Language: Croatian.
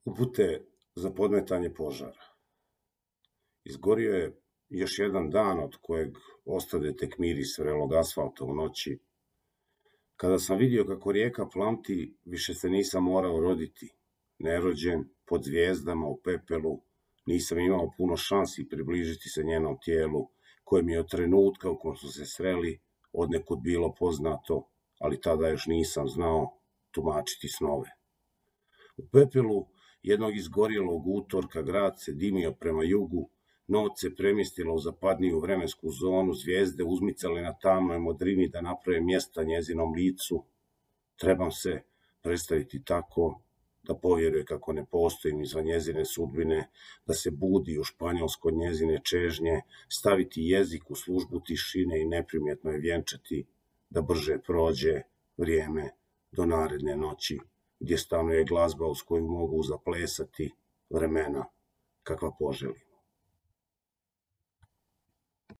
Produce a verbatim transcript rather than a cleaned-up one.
Upute za podmetanje požara. Izgorio je još jedan dan od kojeg ostade tek miris vrelog asfalta u noći. Kada sam vidio kako rijeka plamti, više se nisam morao roditi. Nerođen, pod zvijezdama, u pepelu, nisam imao puno šansi približiti se njenom tijelu, koje mi je od trenutka u kom su se sreli odnekud bilo poznato, ali tada još nisam znao tumačiti snove. U pepelu jednog izgorjelog utorka grad se dimio prema jugu, noć se premjestila u zapadniju vremensku zonu, zvijezde uzmicale na tamnoj modrini da naprave mjesta njezinom licu. Trebam se predstaviti tako da povjeruje kako ne postojim izvan njezine sudbine, da se budi u Španjolsko od njezine čežnje, staviti jezik u službu tišine i neprimjetno je vjenčati, da brže prođe vrijeme do naredne noći, gdje stanuje glazba uz koju mogu zaplesati vremena kakva poželi.